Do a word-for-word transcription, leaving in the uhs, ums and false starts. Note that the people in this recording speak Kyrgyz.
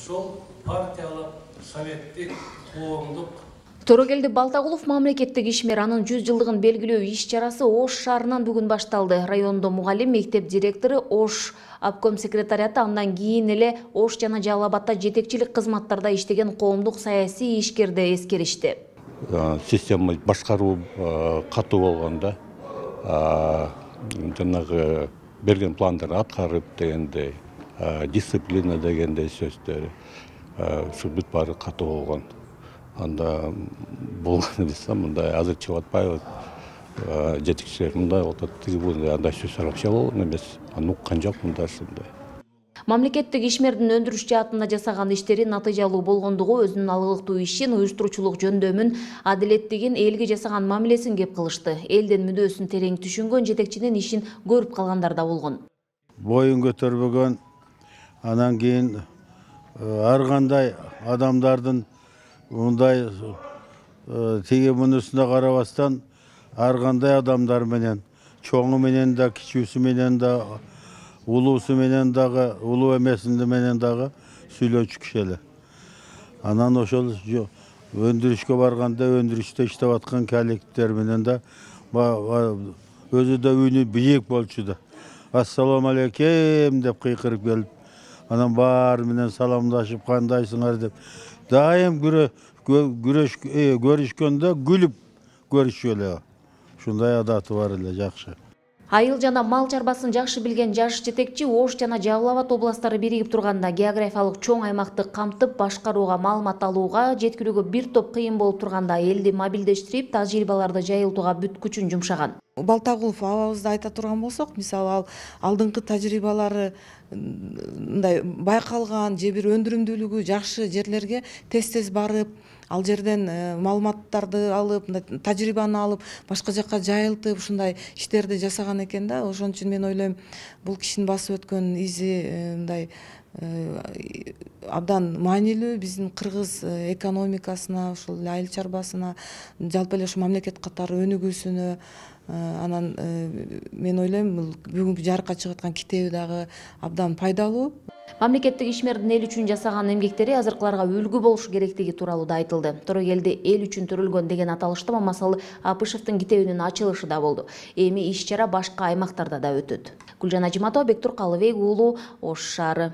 ошол партиялык, советтик, коомдук. Торогелди Балтагулов мамлекеттик ишмер, анын жүз жылдыгын белгилөө иш чарасы Ош шаарынан бүгүн башталды. Райондо мугалим, мектеп директору, Ош обком секретариаты, андан кийин эле Ош жана Жалал Абадта жетекчилик кызматтарда иштеген коомдук саясий ишкерди эскеришти. Система башкаруу катуу болгондо, жанагы берген пландарды аткарып дегендей, дисциплина дегендей сөздөр, ушу бүт баары катуу болгон. Анда болгон десем, мындай азыр чыгып атпайбы, жетекчилер мындай болуп атат, тиги бул андай сөз вообще болгон эмес. Аны уккан жокмун да ушундай. Мамлекеттик ишмердин өндүрүш жаатында жасаган иштери натыйжалуу болгондугу, өзүнүн алгылыктуу ишин, уюштуруучулук жөндөмүн, адилеттигин, элге жасаган мамилесин кеп кылышты. Элдин мүдөөсүн терең түшүнгөн жетекчинин ишин көрүп калгандар да болгон. Боюн көтөрбөгөн, анан кийин ар кандай адамдардын мындай тиги мунусуна карабастан ар кандай адамдар менен, чоңу менен да, кичүүсү менен да, улуусу менен дагы, улуу эмесинде менен дагы сүйлөчү киши эле. Анан ошол өндүрүшкө барганда өндүрүштө иштеп аткан коллективдер менен да өзү да үнү бийик болчу да. Ассаламу алейкум деп кыйкырып келип, анан баары менен саламдашып, кандайсыңар деп дайым көрүшкөндө күлүп көрүшчү эле. Ушундай адаты бар эле, жакшы. Айыл жана мал чарбасын жакшы билген жаш жетекчи Ош жана Жалал Абад областтары биригип турганда географиялык чоң аймакты камтып, башкарууга, маалымат алууга, жеткирүүгө бир топ кыйын болуп турганда элди мобилдештирип, тажрыйбаларды жайылтууга бүт күчүн жумшаган. Балтагулов абабызды айта турган болсок, мисалы ал алдыңкы тажрыйбалары мындай байкалган же бир өндүрүмдүүлүгү жакшы жерлерге тез-тез барып, ал жерден маалыматтарды алып, тажрыйбаны алып, башка жакка жайылтып, ушундай иштерди жасаган экен да. Ошон үчүн мен ойлойм, бул кишинин басып өткөн изи мындай абдан маанилүү биздин кыргыз экономикасына, ушул айыл чарбасына, жалпы эле ушу мамлекет катары өнүгүүсүнө. Анан мен ойлойм, бул бүгүнкү жарыкка чыгып аткан китеби дагы абдан пайдалуу. Мамлекеттик ишмердин эл үчүн жасаган эмгектери азыркыларга үлгү болушу керектиги тууралуу да айтылды. Торогелди эл үчүн төрөлгөн деген аталышта Мамасалы Апышевдин китебинин ачылышы да болду. Эми иш чара башка аймактарда да өтөт. Гүлжан Ажиматова, Бектур Калыбек уулу, Ош шаары.